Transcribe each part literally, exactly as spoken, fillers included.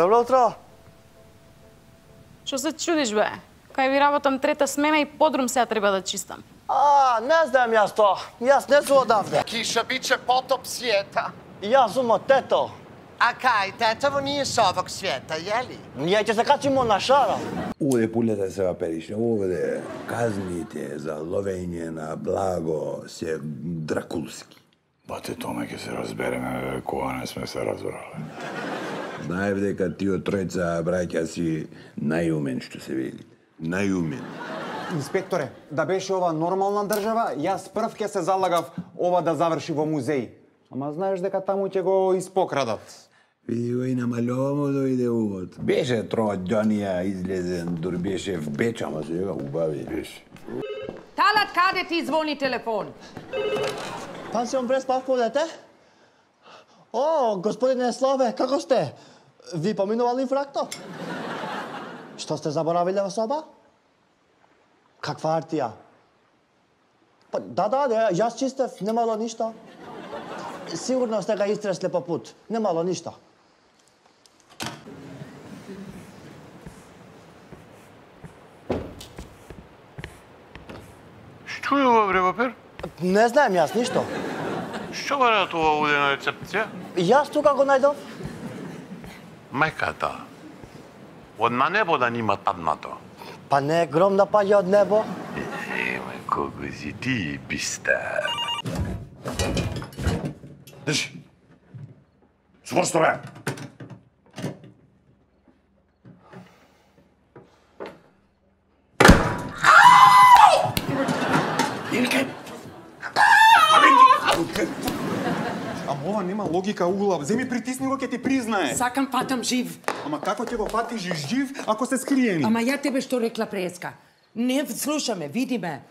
Добро утро. Што се чудиш, бе? Кај ви работам трета смена и подрум сега треба да чистам. А, не знам јас то. Јас не сум одавде. Киша биче потоп света. Јас сум од тето. А кај, тетово nije s ovog svijeta, jeli? Ние ќе се качимо на шара. Овде пулята се ваперише, овде казните за ловење на благо се дракулски. Бате, томе ќе се разбереме, кога не сме се разбрале. Знаев дека тие тројца браќа си најумен, што се вели. Најумен. Инспекторе, да беше ова нормална држава, јас прв ќе се залагав ова да заврши во музеј. Ама знаеш дека таму ќе го испокрадат. Види го и намалјова му дојде увод. Беше тројдонија излезен, дур беше в Беч, ама сега убави. Беше. Талат, каде ти звони телефон? Пансион Преспа, дете? О, господине Славе, како сте? Ви поминували фракто? Што сте заборавиле во соба? Каква артија? Па, да, да, да, јас чистев, немало ништо. Сигурно сте га истресле по пут, немало ништо. Што е ова, бре, Вапер? Не знаем јас ништо. Што барат ова овде на рецепција? Јас тука го најдов. Мајката. Од на небо да нима паднато. Па не гром да паѓа од небо. Еме, колку си ти бистер. Држи. Сврсто, бе! Ама ова нема логика, Ула. Земи притисни го, ќе ти признае. Сакам патам жив. Ама како ќе го патиш жив ако се скриени? Ама ја тебе што рекла преска. Не слушаме, види ме.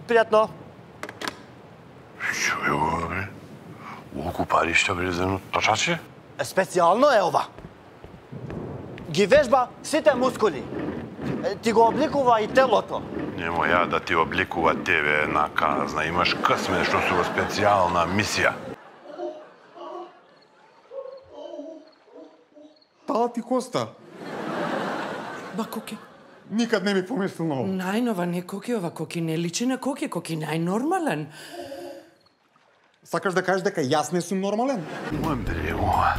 Пријатно. Што е ова, бре? Олку пари што влезено точаче? Специјално е ова. Ги вежба сите мускули. Ти го обликува и телото. Немо ја да ти обликува тебе една казна. Имаш късме што су во специјална мисија. Тала ти коста. Ба коки. Никад не ми помислил на ова. Најнова не коки, ова коки не личи на коки, коки најнормален. Сакаш да кажеш дека јас не сум нормален? Мојм бре, ова.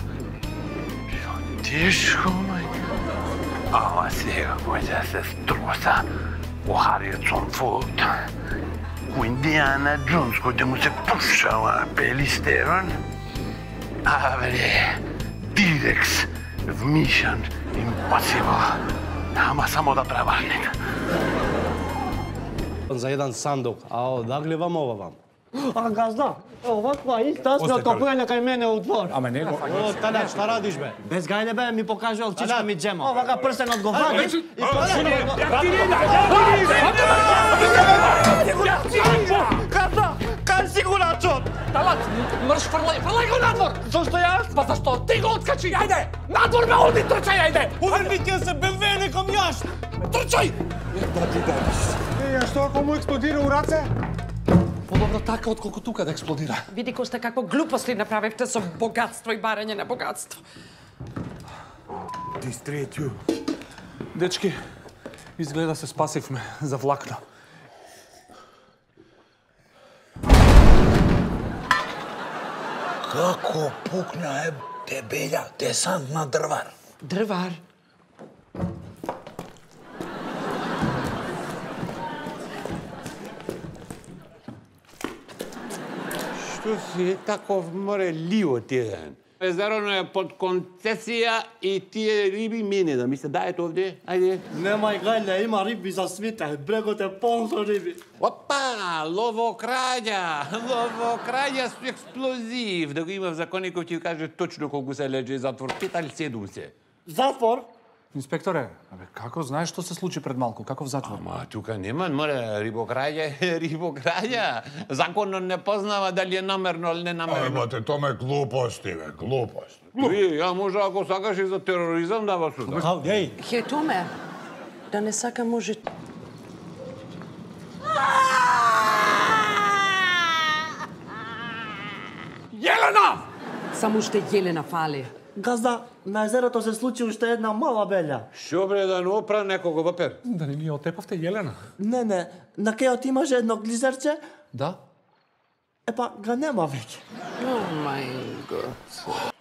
Тешко, мајка. Ама сега кој да се струса у Харисон Форд. У Индиана Джонс, кој да му се пушава Пели Стерон. А, бре, T-Rex в Mission Impossible. Ама само да преварнете. За еден сандук, а одагли вам ова вам? А газда, оваква иста сме откопување кај мене у двор. Ама не го. О, Талат, шта радиш, бе? Без гајде бе, ми покажал чичка ми джема. Овака прсен одговари и почнува го... Газда, кај си го начот? Талат, мрш, фрлај, фрлај го надвор! Зошто јас? Па зашто ти го откачи? Ајде, надвор ме оди, трчај, ајде! Уврбите се бе неком јаш! Трчај! Е, а што ако му експлодира у раце? Подобро така, отколку тука да експлодира. Види Коста какво глупости направивте со богатство и барање на богатство. Дистретју. Дечки, изгледа се спасивме за влакно. Како пукна е дебеља десант на дрвар? Дрвар. Што си таков море ливот еден? Езерото е под концесија и тие риби мене да ми се дајат овде. Ајде. Немај гајле, има риби за свите. Брегот е полн со риби. Опа, ловокраѓа. Ловокраѓа со експлозив. Да го имав законников ќе каже точно колку се леже затвор. Пет или седум се. Затвор? Инспекторе, абе, како знаеш што се случи пред малку? Каков затвор? Ама тука нема, море, рибокраѓа е рибокраѓа. Законот не познава дали е намерно или не намерно. Бате, томе глупости, бе, глупости. Ви, ја може ако сакаш и за тероризам да вас суда. Кај? Хетоме, да не сака може... Јелена! Само уште Јелена фали. Газда, на езерото се случи уште една мала белја. Шо бре да не опра некого вапер? Да не ни отепавте Јелена? Не, не, на кејот имаше едно глизерче, Да. епа, га нема веќе. О мај гот.